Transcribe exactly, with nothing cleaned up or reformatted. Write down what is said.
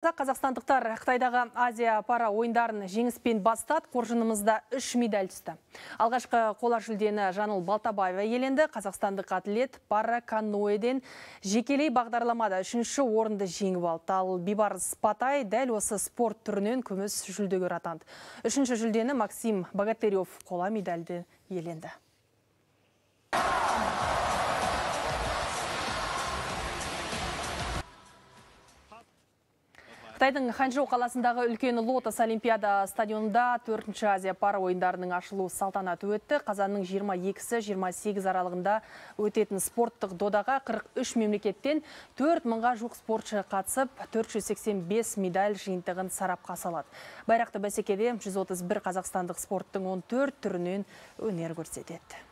Қазақстандықтар Қытайдағы Азия пара ойындарын жеңіспен бастады, қоржынымызда үш медаль түсті. Алғашқы қола жүлдені Жаныл Балтабаева иеленді. Қазақстандық атлет пара каноэден жекелей бағдарламада үшінші орынды жеңіп алды. Ал Бибарыс Патай дәл осы спорт түрінен күміс жүлдегер атанды. Үшінші жүлдені Максим Богатырев қола медальді иеленді. Қытайдың Ханчжоу қаласындағы үлкен Лотос Олимпиада стадионында төртінші Азия пара ойындарының ашылу салтанаты өтті. Қазанның жиырма екісі жиырма сегіз аралығында өтетін спорттық додаға қырық үш мемлекеттен төрт мыңға жуық спортшы қатысып, төрт жүз сексен бес медаль жиынтығын сарапқа салады. Байрақты бәсекеде жүз отыз бір қазақстандық спорттың он төрт түрінен өнер көрсетеді.